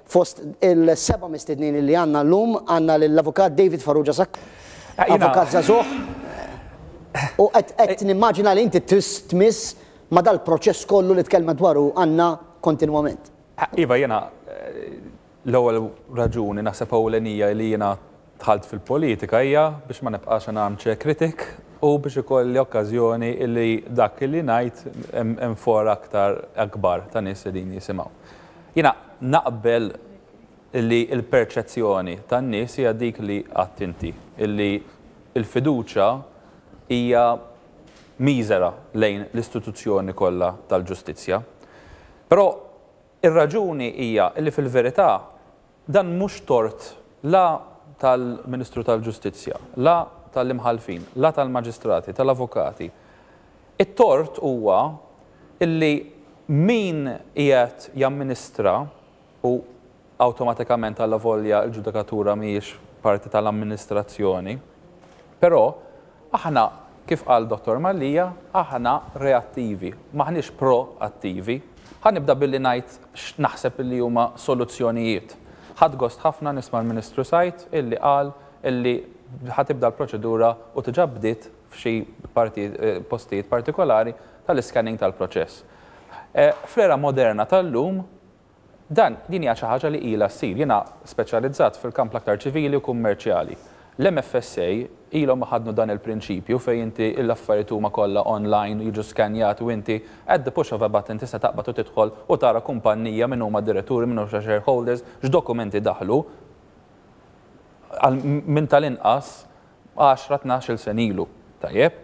Fost il-seba' mistednin li għandna llum għandna lill-Avukat David Farrugia Sacco, avukat żagħżugħ, u qed nimmaġina li inti tmiss ma' dal-proċess kollu li tkellmet dwaru Anna kontinwament. Iva, jiena l-ewwel raġuni naħseb ewlenija li jiena dħalt fil-politika hija biex ma nibqax an armchair critic u biex ikolli okkażjoni li dak li ngħid hemm fora aktar akbar ta' nies qegħdin jisimgħu. Jiena naqbel li l-perċezzjoni tan-nies hija dik li għedt inti, illi l-fiduċja hija miżera lejn l-istituzzjoni kollha tal-ġustizzja. Però ir-raġuni hija li fil-verità dan mhux tort la tal-Ministru tal-Ġustizzja, la tal-imħallfin, la tal-maġistrati, tal-avukati. It-tort huwa illi min qiegħed jamministra, u awtomatikament allavolja l-ġudikatura mhijiex parti tal-amministrazzjoni, però aħna, kif qal Dottor Mallia, aħna reattivi, m'aħniex proattivi. Ħa nibda billi ngħid x'naħseb illi huma soluzzjonijiet. Ħadt gost ħafna nisma' l-Ministru Said illi qal illi ħa tibda l-proċedura u diġà bdiet f'xi postijiet partikolari tal-iscanning tal-proċess. Fl-era moderna tal-lum, dan, din hija xi ħaġa li ilha ssir. Jiena speċjalizzat fil-kamp l-aktar ċivili u kummerċjali. L-MFSA ilhom iħaddnu dan il-prinċipju fejn inti l-affarijiet huma kollha online, jiġu skanjati u inti at the push of a button tista' taqbad u tidħol u tara kumpannija min huma d-diretturi, min huma shareholders, x'dokumenti daħlu għal minn tal-inqas għaxra, 12-il sena ilu. Tajjeb?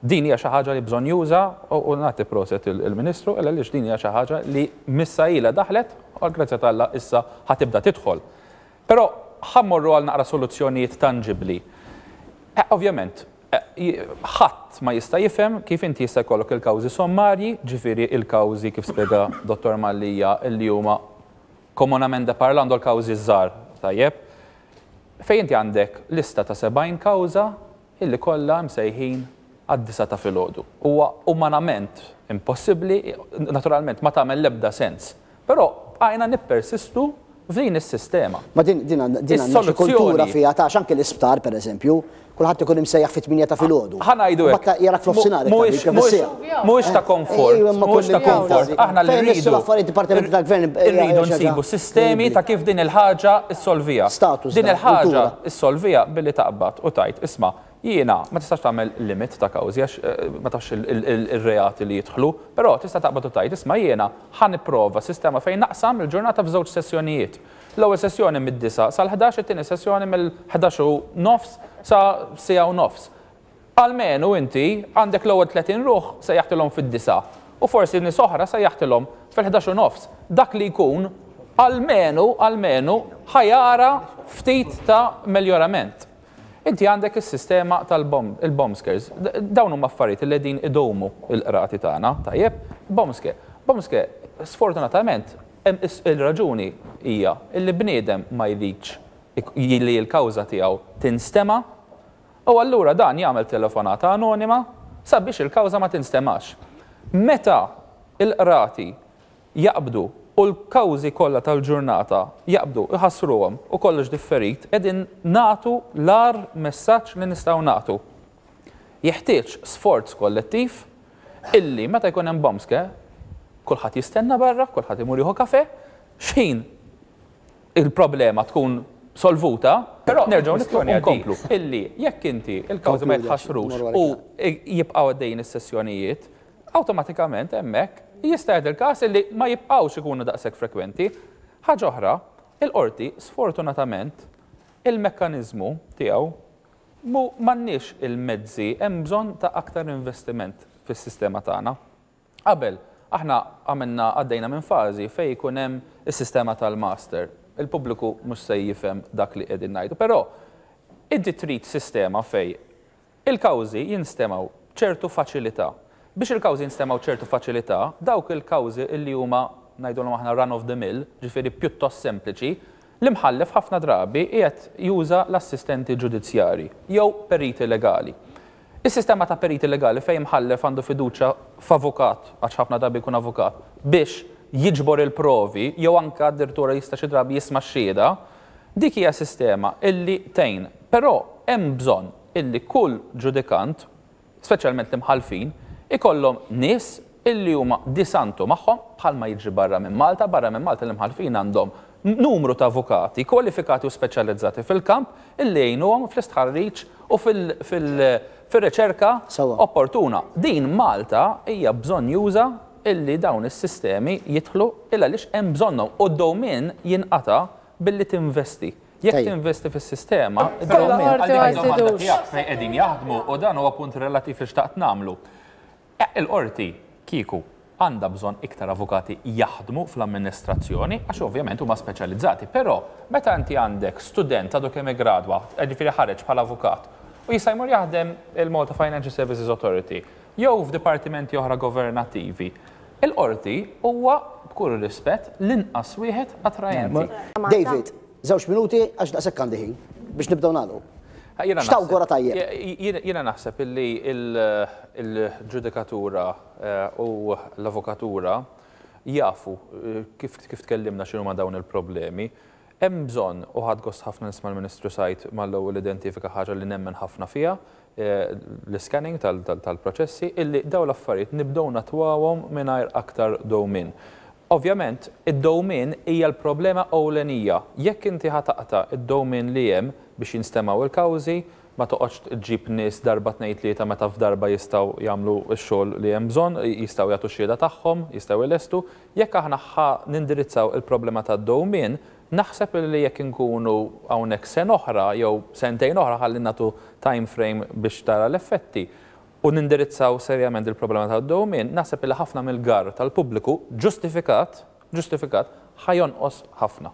Din hija xi ħaġa li bżonnjuża u nagħti proset il-Ministru għaliex din hija xi ħaġa li missa ilha daħlet u għall-grazzja t'Alla issa ħa tibda tidħol. Però ħa mmorru għal naqra soluzzjonijiet tanġibbli. Ovvjament, ħadd ma jista' jifhem kif inti jista' jkollok il-kawżi sommarji, ġifieri il-kawżi kif spjega Dottor Mallia li huma komunamente parlando l-kawżi ż-żgħar, tajjeb, fejn inti għandek lista ta' 70 kawża illi kollha msejħin għad-disgħa ta' filgħodu. Huwa umanament impossibbli, naturalment ma tagħmel l-ebda sens. Però bqajna nippersistu f'din is-sistema. Ma din din għandna din għandna xi kultura fiha ta' għax anke l-isptar pereżempju, kulħadd ikun imsejjaħ fit-tmienja ta' filgħodu. Ħa ngħidu hekk. Mbagħad jarak f'nofsinhar it-tabib Mhuwiex ta' komfort, mhuwiex ta' komfort. Aħna li rridu. L-affarijiet dipartimenti tal-gvern. Irridu nsibu sistemi ta' kif din il-ħaġa ssolviha. Din il-ħaġa ssolviha billi taqbad u tgħid, isma' jiena ma tistax tagħmel limit ta' kawżi għax ma tafx ir-reati li jidħlu, però tista' taqbad u tgħid, isma' jiena ħa nipprova sistema fejn naqsam il-ġurnata f'żewġ sessjonijiet. L-ewwel sessjoni mid-disgħa sal-ħdax, it-tieni sessjoni mill-ħdax u nofs sa siegħa u nofs. Almenu inti għandek l-ewwel 30 ruħ sejjaħtilhom fid-disgħa u forsi nies oħra sejjaħtilhom fil-ħdax u nofs. Dak li jkun almenu, almenu ħa jara ftit ta' meljorament. Inti għandek is-sistema tal-bomb, il-bomb scares. Dawn huma affarijiet li qegħdin idewmu l-qrati tagħna, tajjeb? Bomb scare. Bomb scare, sfortunatament, il-raġuni hija li bniedem ma jridx li l-kawża tiegħu tinstema' u allura dan jagħmel telefonata anonima sabiex il-kawża ma tinstemax. Meta l-qrati jaqbdu u l-kawżi kollha tal-ġurnata jaqbdu jħassruhom u kollox differit, qegħdin nagħtu l-agħar messaġġ li nistgħu nagħtu. Jeħtieġ sforz kollettiv illi meta jkun hemm bombske, kulħadd jistenna barra, kulħadd imur jieħu kafe, x'ħin il-problema tkun solvuta, però nerġgħu nidħlu u nkomplu illi jekk inti l-kawżi ma jitħassrux u jibqgħu għaddejjin is-sessjonijiet, awtomatikament hemmhekk jista' jagħti l-każ illi ma jibqgħux ikunu daqshekk frekwenti. Ħaġa oħra, il-qorti sfortunatament il-mekkaniżmu tiegħu mhu m'għandniex il-mezzi, hemm bżonn ta' aktar investiment fis-sistema tagħna. Qabel, aħna għamilna għaddejna minn fażi fejn ikun hemm is-sistema tal-master. Il-pubbliku mhux se jifhem dak li qegħdin ngħidu, però inti trid sistema fejn il-kawżi jinstemgħu b'ċertu faċilità. Biex il-kawżi jinstemgħu b'ċertu faċilità, dawk il-kawżi li huma ngħidulhom aħna run of the mill, ġifieri pjuttost sempliċi, l-imħallef ħafna drabi qiegħed juża l-assistenti ġudizzjarji jew periti legali. Is-sistema ta' periti legali fejn imħallef għandu fiduċja f'avukat, għax ħafna drabi jkun avukat, biex jiġbor il-provi jew anke addirittura jista' xi drabi jisma' x-xhieda, dik hija sistema illi tgħin. Però hemm bżonn illi kull ġudikant, speċjalment l-imħallfin, ikollhom nies illi huma di santo magħhom bħalma jiġri barra minn Malta. Barra minn Malta l-imħallfin għandhom numru ta' avukati kwalifikati u speċjalizzati fil-kamp illi jgħinuhom fl-istħarriġ u fil-riċerka opportuna. Din Malta hija bżonnjuża illi dawn is-sistemi jidħlu il għaliex hemm bżonnhom u d-dewmien jinqata' billi tinvesti. Jekk tinvesti fis-sistema, id-dewmien. Għal dik id-domanda tiegħek fejn qegħdin jaħdmu u dan huwa punt relattiv li xtaqt nagħmlu. Il-Qorti, kieku, għandha bżonn iktar avukati jaħdmu fl-amministrazzjoni għax ovvjament huma speċjalizzati. Però meta inti għandek student għadu kemm iggradwa, jiġifieri ħareġ bħala avukat, u jista' jmur jaħdem il-Malta Financial Services Authority jew f'dipartimenti oħra governattivi, il-Qorti huwa, b'kull rispett, l-inqas wieħed attrajenti. David, żewġ minuti għax daqshekk għandi ħin biex nibdew nagħlqu. X'tawgura tajjeb? Jiena naħseb illi l-ġudikatura u l-avukatura jafu kif tkellimna x'inhuma dawn il-problemi. Hemm bżonn, u ħadt gost ħafna nisma' l-Ministru Said mal-ewwel identifika ħaġa li nemmen ħafna fiha, l-iscanning tal-proċessi, illi dawn l-affarijiet nibdew nattwawhom mingħajr aktar dewmien. Ovvjament, id-dewmien hija l-problema ewlenija. Jekk inti ħa taqta' d-dewmien li hemm biex jinstemgħu l-kawżi, ma toqgħodx ġġib nies darba tnejn tlieta meta f'darba jistgħu jagħmlu x-xogħol li hemm bżonn, jistgħu jagħtu x-xhieda tagħhom, jistgħu jlestu. Jekk aħna ħa nindirizzaw il-problema tad-dewmien, naħseb li jekk inkunu hawnhekk sena oħra jew sentejn oħra ħalli nagħtu time frame biex tara l-effetti, u nindirizzaw serjament il-problema tad-dewmien, naħseb li ħafna mill-garr tal-pubbliku ġustifikat, ġustifikat, ħa jonqos ħafna.